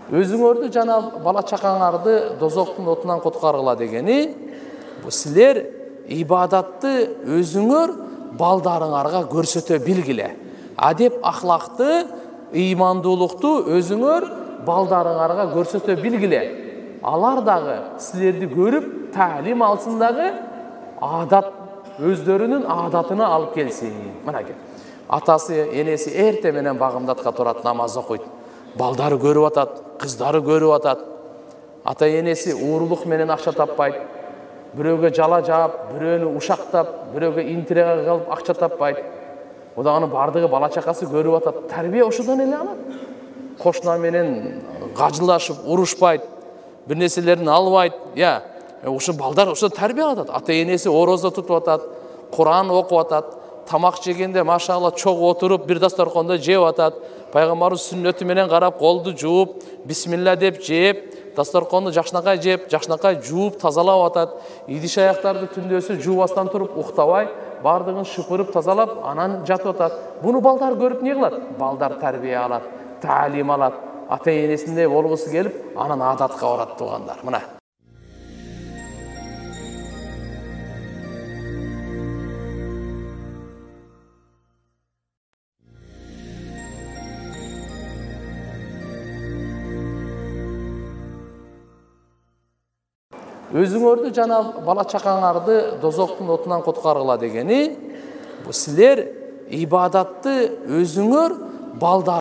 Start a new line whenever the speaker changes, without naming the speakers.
Өзүңөрдү жана бала чакаңарды дозоктун отунан куткаргыла дегени, бу силер ибадатты өзүңөр балдарыңарга көрсөтө билгиле. Адеп ахлакты, ыймандуулукту өзүңөр балдарыңарга көрсөтө билгиле. Алар дагы силерди көрүп таалим алсын дагы, адат өздөрүнүн адатына алып келсин. Мынакей. Атасы, энеси эрте менен багымдатка турат, намаз окуйт. Балдары көрүп атат, кыздары көрүп атат. Ата энеси уурулук менен акча таппайт. Бирөөгө жала жаап, бирөөнү ушактап, бирөөгө интрига кылып акча таппайт. Аны бардыгы бала чакасы көрүп атат. Тарбия ошодон эле алат. Кошуна менен гажылашып, урушпайт, бир нерселерин албайт. Ушу балдар ошо тарбия алат. Ата энеси орозо тутуп атат, Куран окуп атат, тамак жегенде машалла чогуу отуруп бир дасторкондо жеп атат. Пайгамбарыбыз сүннөтү менен карап, колду жууп, бисмилла деп жеп, дасторконду жакшынакай жеп, жакшынакай жууп, тазалап атат. Идиш аяктарды түндөсү жуубастан туруп уктабай, бардыгын шыпырып тазалап, анан жатып атат. Буну балдар көрүп не кылат? Балдар тарбия алат, таалим алат. Ата энесиндей болгусу келип, анан адатка барат туугандар. Мына. Өзүңөрдү жана бала чакаңарды дозоктун отунан куткаргыла дегени, бу силер ибадатты өзүңөр балдар